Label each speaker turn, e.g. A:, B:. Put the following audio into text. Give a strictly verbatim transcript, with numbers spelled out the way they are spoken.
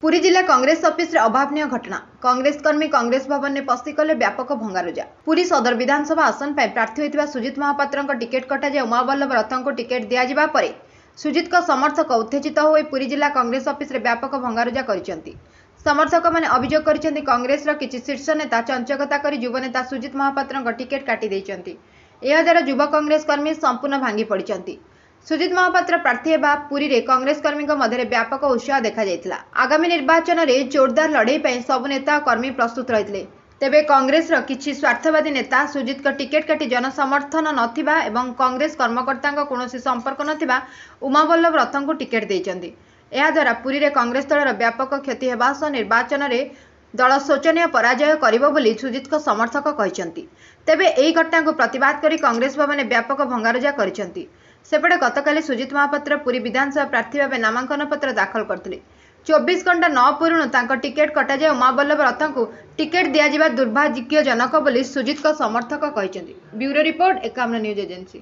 A: ପୁରୀ ଜିଲ୍ଲା କଂଗ୍ରେସ ଅଫିସରେ ଅଭାବନୀୟ ଘଟଣା। କଂଗ୍ରେସ କର୍ମୀ କଂଗ୍ରେସ ଭବନରେ ପଶିକଲେ ବ୍ୟାପକ ଭଙ୍ଗାରୁଜା। ପୁରୀ ସଦର ବିଧାନସଭା ଆସନ ପାଇଁ ପ୍ରାର୍ଥୀ ହୋଇଥିବା ସୁଜିତ ମହାପାତ୍ରଙ୍କ ଟିକେଟ୍ କଟାଯାଇ ଉମାବଲ୍ଲଭ ରଥଙ୍କୁ ଟିକେଟ୍ ଦିଆଯିବା ପରେ ସୁଜିତଙ୍କ ସମର୍ଥକ ଉତ୍ତେଜିତ ହୋଇ ପୁରୀ ଜିଲ୍ଲା କଂଗ୍ରେସ ଅଫିସରେ ବ୍ୟାପକ ଭଙ୍ଗାରୁଜା କରିଛନ୍ତି। ସମର୍ଥକମାନେ ଅଭିଯୋଗ କରିଛନ୍ତି, କଂଗ୍ରେସର କିଛି ଶୀର୍ଷ ନେତା ଚଞ୍ଚକତା କରି ଯୁବନେତା ସୁଜିତ ମହାପାତ୍ରଙ୍କ ଟିକେଟ୍ କାଟି ଦେଇଛନ୍ତି। ଏହାଦ୍ୱାରା ଯୁବ କଂଗ୍ରେସ କର୍ମୀ ସମ୍ପୂର୍ଣ୍ଣ ଭାଙ୍ଗି ପଡ଼ିଛନ୍ତି। ସୁଜିତ ମହାପାତ୍ର ପ୍ରାର୍ଥୀ ହେବା ପୁରୀରେ କଂଗ୍ରେସ କର୍ମୀଙ୍କ ମଧ୍ୟରେ ବ୍ୟାପକ ଉତ୍ସାହ ଦେଖାଯାଇଥିଲା। ଆଗାମୀ ନିର୍ବାଚନରେ ଜୋରଦାର ଲଢ଼େଇ ପାଇଁ ସବୁ ନେତା ଓ କର୍ମୀ ପ୍ରସ୍ତୁତ ରହିଥିଲେ। ତେବେ କଂଗ୍ରେସର କିଛି ସ୍ୱାର୍ଥବାଦୀ ନେତା ସୁଜିତଙ୍କ ଟିକେଟ୍ କାଟି ଜନସମର୍ଥନ ନଥିବା ଏବଂ କଂଗ୍ରେସ କର୍ମକର୍ତ୍ତାଙ୍କ କୌଣସି ସମ୍ପର୍କ ନଥିବା ଉମାବଲ୍ଲଭ ରଥଙ୍କୁ ଟିକେଟ୍ ଦେଇଛନ୍ତି। ଏହାଦ୍ୱାରା ପୁରୀରେ କଂଗ୍ରେସ ଦଳର ବ୍ୟାପକ କ୍ଷତି ହେବା ସହ ନିର୍ବାଚନରେ ଦଳ ଶୋଚନୀୟ ପରାଜୟ କରିବ ବୋଲି ସୁଜିତଙ୍କ ସମର୍ଥକ କହିଛନ୍ତି। ତେବେ ଏହି ଘଟଣାକୁ ପ୍ରତିବାଦ କରି କଂଗ୍ରେସ ଭବନରେ ବ୍ୟାପକ ଭଙ୍ଗାରୁଜା କରିଛନ୍ତି। ସେପଟେ ଗତକାଲି ସୁଜିତ ମହାପାତ୍ର ପୁରୀ ବିଧାନସଭା ପ୍ରାର୍ଥୀ ଭାବେ ନାମାଙ୍କନ ପତ୍ର ଦାଖଲ କରିଥିଲେ। ଚବିଶ ଘଣ୍ଟା ନ ପୂରୁଣୁ ତାଙ୍କ ଟିକେଟ୍ କଟାଯାଇ ଉମାବଲ୍ଲଭ ରଥଙ୍କୁ ଟିକେଟ୍ ଦିଆଯିବା ଦୁର୍ଭାଗ୍ୟଜନକ ବୋଲି ସୁଜିତଙ୍କ ସମର୍ଥକ କହିଛନ୍ତି। Bureau report, Ekamra news agency.